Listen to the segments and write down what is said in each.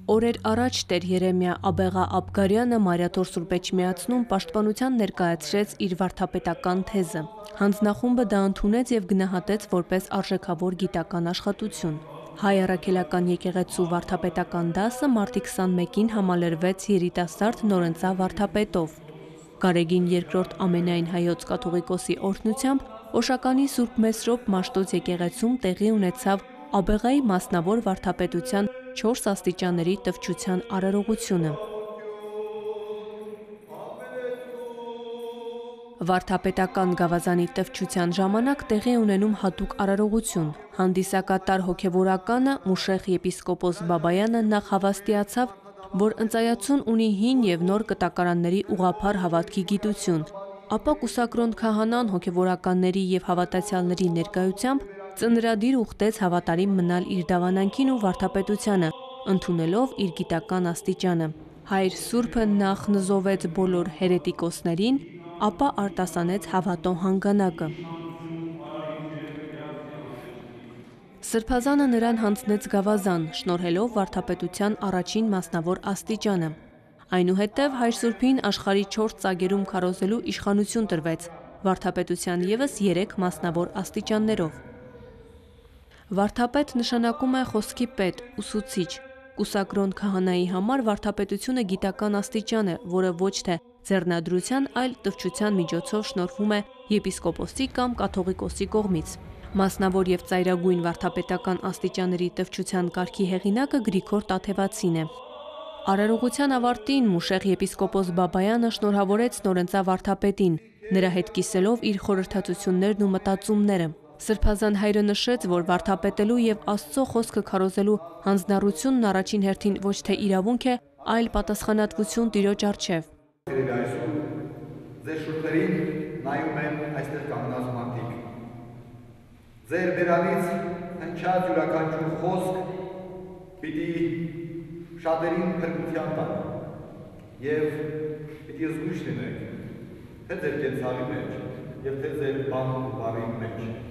Օրեր առաջ Տեր Երեմիա Աբեղա Աբգարյանը Մարիաթոր Սուրբ Էջմիածնում պաշտպանության ներկայացրեց իր վարդապետական թեզը։ Հանձնախումբը դա ընդունեց եւ գնահատեց որպես արժեքավոր գիտական աշխատություն։ Հայ առաքելական եկեղեցու վարդապետական դասը մարտի 21-ին համալրվեց երիտասարդ նորընծա վարդապետով։ Գարեգին II ամենայն հայոց կաթողիկոսի օրհնությամբ Օշականի Սուրբ Մեսրոպ Մաշտոց եկեղեցում տեղի ունեցավ Աբեղայի մասնավոր վարդապետության 4 աստիճանների տվչության արարողությունը։ Վարդապետական գավազանի տվչության ժամանակ տեղի ունենում հատուկ արարողություն։ Հանդիսակատար հոգևորականը Մուշեղ եպիսկոպոս Բաբայանը նախ հավաստիացավ, որ ընծայացուն ունի հին եւ նոր կտակարանների ուղղափառ հավատքի գիտություն, ապա կուսակրոն քահանան հոգևորականների եւ հավատացյալների ներկայությամբ ծնրադիր ուխտեց հավատարիմ մնալ իր դավանանքին ու վարդապետությանը, ընդունելով իր գիտական աստիճանը։ Հայր Սուրբը նախ նզովեց բոլոր հերետիկոսներին, ապա արտասանեց հավատո հանգանակը։ Սրբազանը նրան հանձնեց գավազան, շնորհելով վարդապետության առաջին մասնավոր աստիճանը։ Այնուհետև Հայր Սուրբին աշխարհի 4 ծագերում քարոզելու իշխանություն տրվեց, վարդապետության ևս 3 մասնավոր աստիճաններով։ Վարդապետ նշանակում է խոսքի պետ, ուսուցիչ։ Կուսակրոն քահանայի համար վարդապետությունը գիտական աստիճան է, որը ոչ թե ձեռնադրության, այլ տվչության միջոցով շնորհվում է եպիսկոպոսի կամ կաթողիկոսի կողմից։ Մասնավոր եւ ծայրագույն վարդապետական աստիճանների տվչության կարգի հեղինակը Գրիգոր Տաթևացին է։ Արարողության ավարտին Մուշեղ եպիսկոպոս Բաբայանը շնորհավորեց նորընծա վարդապետին, նրա հետ կիսելով իր խորհրդածություններն ու մտածումները։ Սրբազան հայրը նշեց, որ վարդապետելու եւ Աստծո խոսքը քարոզելու հանձնառությունն առաջին հերթին ոչ թե իրավունք է, այլ պատասխանատվություն Տիրոջ առջև։ Ձեր շուրթերին նայում են այստեղ կանգնած մարդիկ։ Ձեր բերանից հնչած յուրաքանչյուր խոսք պիտի շատերին փրկության տան եւ պիտի զգույշ լինեք, թե ձեր կենցաղի մեջ եւ թե ձեր բան ու բարի մեջ։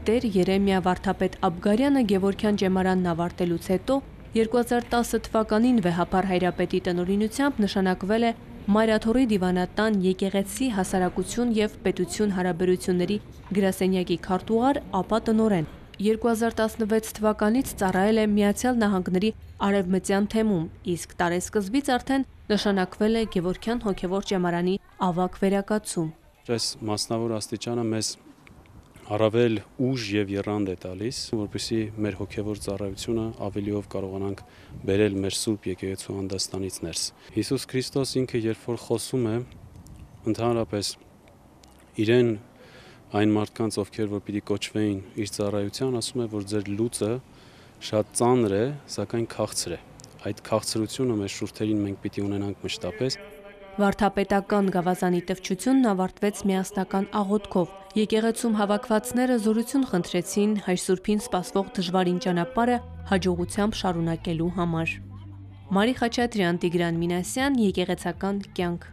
Տեր Երեմիա վարդապետ Աբգարյանը Գևորգյան ջեմարանն ավարտելուց հետո 2010 թվականին վեհափառ հայրապետի տնօրինությամբ նշանակվել է Մարիաթորի դիվանատան եկեղեցի հասարակություն եւ պետություն հարաբերությունների գրասենյակի քարտուղար, ապա տնօրեն։ 2016 թվականից ծառայել է Միացյալ Նահանգների Արևմտյան թեմում, իսկ տարեսկզբից արդեն նշանակվել է Գևորգյան հոգևոր ջեմարանի ավագ վերակացում։ Այս մասնավոր աստիճանը մեզ առավել ուժ եւ եռանդ է տալիս, որպեսզի մեր հոգևոր ծառայությունը ավելիով կարողանանք բերել մեր Սուրբ եկեղեցու հանդաստանից ներս։ Հիսուս Քրիստոս ինքը երբ որ խոսում է, ընդհանրապես իրեն այն մարդկանց, ովքեր որ պիտի կոչվեին իր ծառայության, ասում է, որ ձեր լուծը շատ ծանր է, սակայն քաղցր է։ Այդ քաղցրությունը մեր շուրթերին մենք պիտի ունենանք մշտապես։ Վարդապետական գավազանի տվչությունն ավարտվեց միասնական աղոթքով։ Եկեղեցում հավաքվածները զորություն խնդրեցին Հայր Սուրբին սպասվող դժվարին ճանապարհը հաջողությամբ շարունակելու համար։ Մարի Խաչատրյան, Տիգրան Մինասյան, Եկեղեցական կյանք։